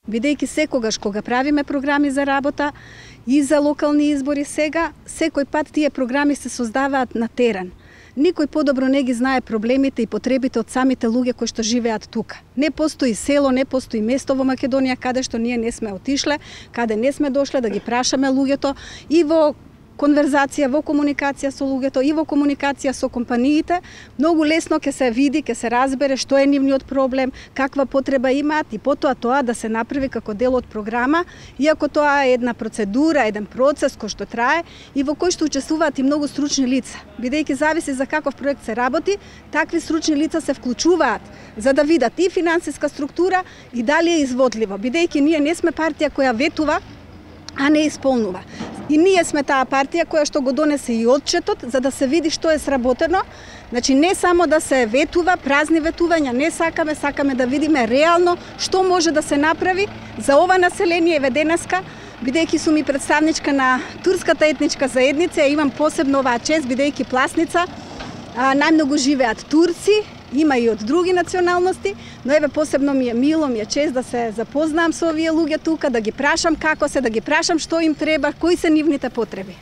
Бидејќи секогаш кога правиме програми за работа и за локални избори сега, секој пат тие програми се создаваат на терен. Никој подобро не ги знае проблемите и потребите од самите луѓе кои што живеат тука. Не постои село, не постои место во Македонија каде што ние не сме отишле, каде не сме дошле да ги прашаме луѓето и во конверзација, во комуникација со луѓето и во комуникација со компаниите, многу лесно ќе се види, ќе се разбере што е нивниот проблем, каква потреба имаат и потоа тоа да се направи како дел од програма, иако тоа е една процедура, еден процес кој што трае и во кој што учествуваат и многу стручни лица. Бидејќи зависи за каков проект се работи, такви стручни лица се вклучуваат за да видат и финансиска структура и дали е изводливо, бидејќи ние не сме партија која ветува, а не исполнува. И ние сме таа партија која што го донесе и отчетот за да се види што е сработено. Значи не само да се ветува, празни ветувања не сакаме да видиме реално што може да се направи за ова население еве денеска, бидејќи сум и представничка на турската етничка заедница, имам посебно оваа чест бидејќи Пласница најмногу живеат турци, има и од други националности, но еве посебно ми е мило, ми е чест да се запознам со овие луѓе тука, да ги прашам како се, да ги прашам што им треба, кои се нивните потреби.